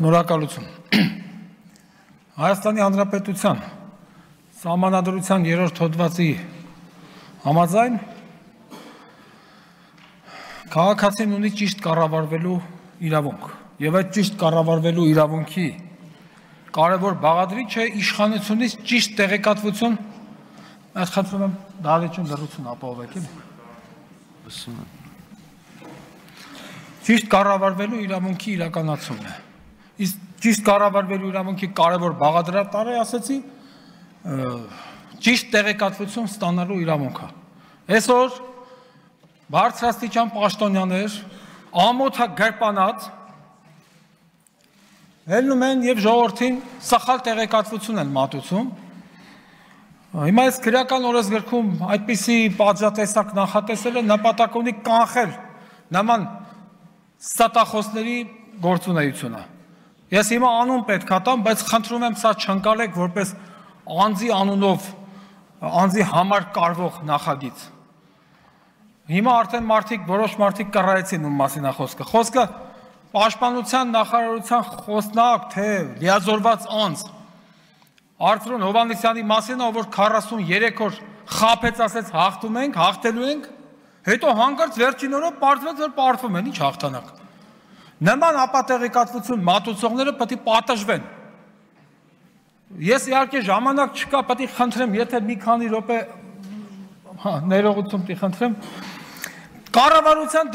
Շնորհակալություն։ Հայաստանի Հանրապետության Սահմանադրության 3-րդ հոդվածի համաձայն քաղաքացին ունի ճիշտ կառավարվելու իրավունք, եւ այդ ճիշտ կառավարվելու իրավունքի կարևոր բաղադրիչը իշխանությունից ճիշտ տեղեկատվություն, ես խնդրում եմ դահլիճում լռություն ապահովեք, էլի։ Ճիշտ կառավարվելու իրավունքի իրականացումն է։ Իսկ ճիշտ կառավարվելու իրավունքի կարևոր բաղադրատարը, ասեցի, ճիշտ տեղեկատվություն ստանալու իրավունքը։ Այսօր բարձրաստիճան պաշտոնյաներ ամոթագրպանած ելնում են եւ ժողովրդին սխալ տեղեկատվություն են մատուցում։ Հիմա այս քրեական օրենսգրքում այդպիսի պատժատեսակ նախատեսելը նպատակ ունի կանխել նման ստատախոսների գործունեությունը։ Ես հիմա անուն պետք է տամ, բայց խնդրում եմ սա չընկալեք որպես անձի անունով, անձի համար կարվող նախագիծ։ Հիմա արդեն որոշ մարդիկ կռայեցին ում մասին է խոսքը։ Խոսքը Պաշտպանության նախարարության խոսնակ, թե լիազորված անձ Արծրուն Հովհաննիսյանի մասին, որ 43 օր խաբեց, ասեց հաղթում ենք, հաղթելու ենք, հետո հանկարծ վերջին օրը պարզվեց, որ պարտվում են, ինչ հաղթանակ։ Նման ապատեղեկատվություն մատուցողները պետք է պատժվեն։ Ես իհարկե ժամանակ չկա, պետք է խնդրեմ, եթե մի քանի րոպե ներողություն պետք է խնդրեմ, կառավարության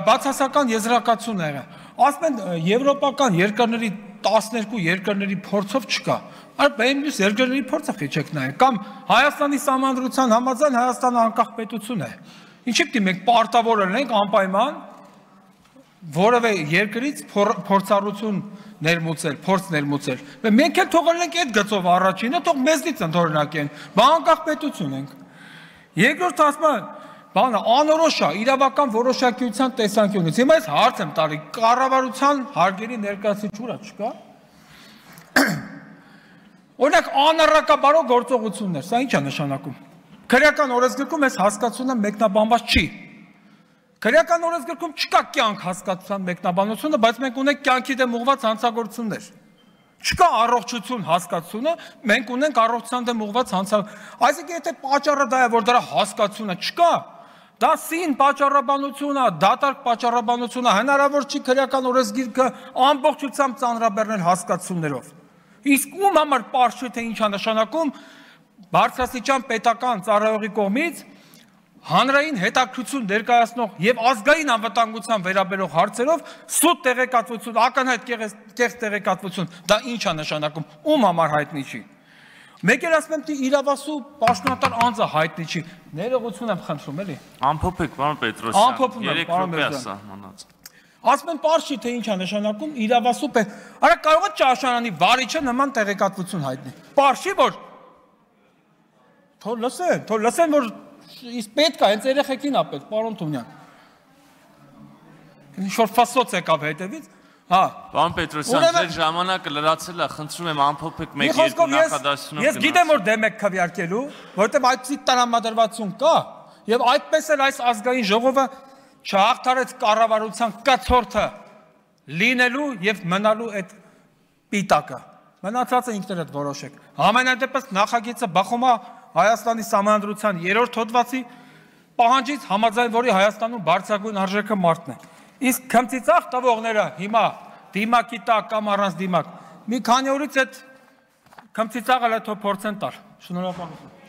բացասական եզրակացություն եղել։ Ասում են եվրոպական երկրների 12 երկրների փորձով չկա։ Այլ մյուս երկրների փորձը խիչեք նայեք, կամ Հայաստանի Սահմանադրության համաձայն Հայաստանը անկախ պետություն է։ Ինչի՞ պիտի մենք պարտավոր լինենք անպայման որևէ երկրից փորձառություն ներմուծել, փորձ ներմուծել։ Մենք էլ թող լինենք այդ գծով առաջինը, թող մեզնից ընդօրինակեն, անկախ պետություն ենք։ Երկրորդ ասում բանը անորոշ է իրավական որոշակիության տեսանկյունից։ Հիմա ես հարց եմ տալի, կառավարության հարգելի ներկայացուցիչ չկա։ Օրինակ անառակաբարո գործողություններ, սա ինչ է նշանակում։ Քրեական օրենսգրքում այս հասկացությունը մեկնաբանված չի։ Քրեական օրենսգրքում չկա կյանք հասկացության մեկնաբանությունը, բայց մենք ունենք կյանքի դեմ ուղղված հանցագործություններ։ Չկա առողջություն հասկացությունը, մենք ունենք առողջության դեմ ուղղված հանցագործություն։ Այսինքն եթե պատճառը դա է, որ դրա հասկացությունը չկա, դա սին պատճառաբանություն է, դատարկ պատճառաբանություն է, հնարավոր չի քրեական օրենսգիրքը ամբողջությամբ ծանրաբեռնել հասկացություններով։ Իսկ ում համար պարզ չէ, թե ինչ է նշանակում բարձրաստիճան պետական ծառայողի կողմից հանրային հետաքրքրություն ներկայացնող եւ ազգային անվտանգության վերաբերող հարցերով սուտ տեղեկատվություն, ակնհայտ կեղծ տեղեկատվություն, դա ինչ է նշանակում, ում համար հայտնի չի։ Մեկ էլ ասում եմ, թե իրավասու պաշտոնատար անձը հայտնի չի։ Ներողություն եմ խնդրում, էլի։ Ամփոփեք, պարոն Պետրոսյան, 3 րոպե է սահմանած։ Ասում եմ, պարզ չի, թե ինչ է նշանակում իրավասու Արա կարող է ճաշարանի վարիչը նման տեղեկատվություն հայտնի։ Պարզ չի, որ թող լսեն, որ իսկ պետք է, հենց երեխեքին է պետք, պարոն Թումյան։ Ինչ-որ ֆասոց եկավ հետևից, Պարոն Պետրոսյան, ձեր ժամանակը լրացել է, խնդրում եմ ամփոփեք 1-2 նախադասությունով։ Ես գիտեմ, որ դեմ եք քվեարկելու, որովհետև այդպիսի տրամադրվածություն կա, եւ այդպես էլ այս ազգային ժողովը չհաղթարեց կառավարության կցորդը լինելու եւ մնալու այդ պիտակը։ Մնացածը ինքներդ որոշեք։ Համենայն դեպս նախագիծը բխում է Հայաստանի Սահմանադրության 3-րդ հոդվածի պահանջից, համաձայն որի Հայաստանում բարձրագույն արժեքը մարդն է։ Իսկ քմծիծաղ տվողները հիմա դիմակի տակ կամ առանց դիմակ մի քանի օրից այդ քմծիծաղը լեթո փորձեն տալ։ Շնորհակալություն։